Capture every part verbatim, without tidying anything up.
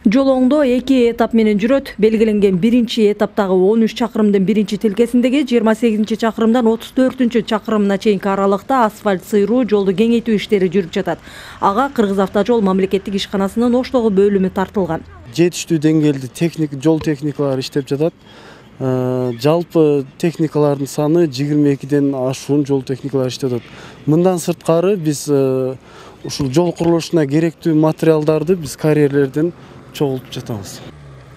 Жол оңдоо эки этап менен жүрөт. Белгиленген биринчи этаптагы он үч чакырымдын биринчи тилкесиндеги жыйырма сегизинчи чакырымдан отуз төртүнчү чакырымына чейинки аралыкта асфальт сыйруу, жолду кеңейтүү иштери жүрүп жатат. Ага Кыргызавтожол мамлекеттик ишканасынын Оштогу бөлүмү тартылган. Жетиштүү деңгээлде техник жол техникалары иштеп жатат. Жалпы техникалардын саны жыйырма экиден ашуун жол техникалары иштеп жатат. Мындан сырткары биз ушул жол курулушуна керектүү материалдарды биз карьерлерден чогултуп жатабыз.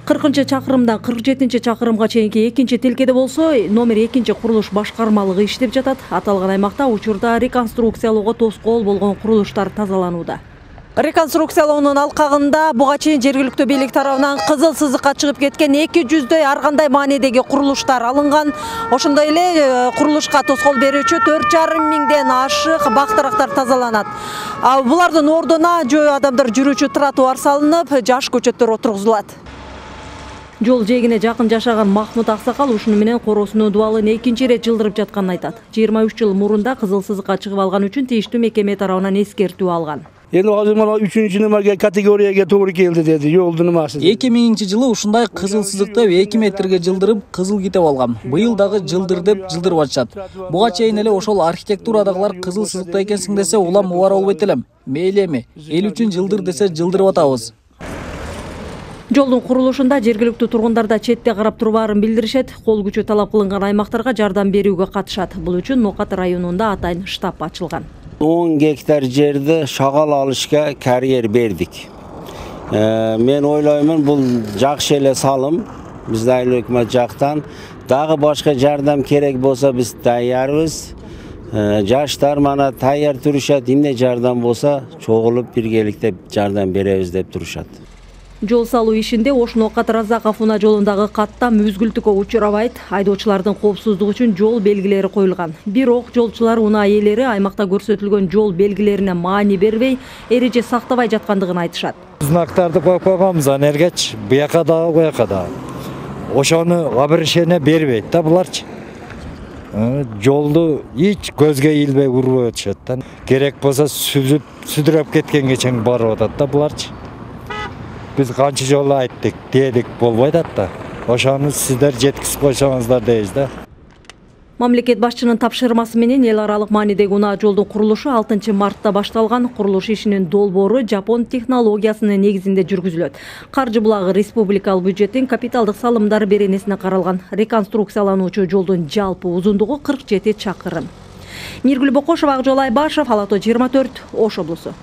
кыркынчы чакырымдан кырк жетинчи чакырымга чейинки экинчи тилкеде болсо, номер экинчи курулуш башкармалыгы иштеп жатат. Аталган аймакта учурда реконструкциялоого тоскоол болгон курулуштар тазаланууда. Реконструкциялоонун алкагында буга чейин жергиликтүү бийлик тарабынан кызыл сызыкка чыгып кеткен эки жүздөй ар кандай маанидеги курулуштар алынган. Ошондой эле курулушка тоскоол берүүчү төрт жарым миңден ашык бак-дарактар тазаланат. Булардын ордуна жөө адамдар жүрүүчү тротуар салынып, жаш көчөттөр отургузулат. Жол жээгине жакын жашаган Махмут Аксакал ушуну менен короосунун дубалын экинчи ирет жылдырып жатканын айтат. жыйырма үч жыл мурунда кызыл сызыкка чыгып алган үчүн тийиштүү мекеме тарабынан эскертүү алган. Эми азыр мына үчүнчү нумарга категорияга туура келди деди, жолдун нумасы. эки миңинчи жылы ушундай кызыл сызыкты эки метрге жылдырып, кызыл китеп алгам. Быйыл дагы жылдыр деп жылдырып атышат. Буга чейин эле ошол архитектурадагылар кызыл сызыкта экенсиң десе, улам убара болбойт элем. Мейли эми, эл үчүн жылдыр десе жылдырып атабыз. Жолдун курулушунда жергиликтүү тургундар да четте карап турбаарын билдиришет. Кол күчү талап кылынган аймактарга жардам берүүгө катышат. Бул үчүн Нокат районунда атайын штаб ачылган. он гектар жерди шагал алышка карьер бердик. Мен ойлоймун, бул жакшы эле салым. Биз айыл өкмөт жактан дагы башка жардам керек болсо биз даярбыз. Жаштар мана даяр турушат, эмне жардам болсо чогулуп биргеликте жардам беребиз деп турушат. Жол салуу ишинде Ош Нокат Разаков унаа жолундагы каттам үзгүлтүккө учурабайт. Айдоочулардын коопсуздугу үчүн жол белгилери коюлган. Бирок жолчулар унаа ээлери аймакта көрсөтүлгөн жол белгилерине маани бербей, эреже сактабай жаткандыгын айтышат. Знактарды коюп койгонбуз, анергеч буяка дагы буяка дагы. Ошону обращение бербейт да буларчы. Жолду эч көзгө илбей урбой өтүшөт да. Керек болсо сүзүп, сүдүрөп кеткенге чейин барып атат да буларчы. Biz kançı жолу айттык, дедик, болбойт да. Ошону сиздер жеткизип койсоңуздар дейбиз да. Мамлекет башчынын тапшырмасы менен эл аралык маанидеги унаа жолдун курулушу алтынчы мартта башталган. Курулуш ишинин долбоору Жапон технологиясынын негизинде жүргүзүлөт. Каржы булагы республикалык бюджеттин капиталдык салымдар беренесине каралган. Реконструкциялануучу жолдун жалпы узундугу кырк жети чакырым. Миргүл Бокошова, Акжол Айбашев, Ала То жыйырма төрт, Ош облусу.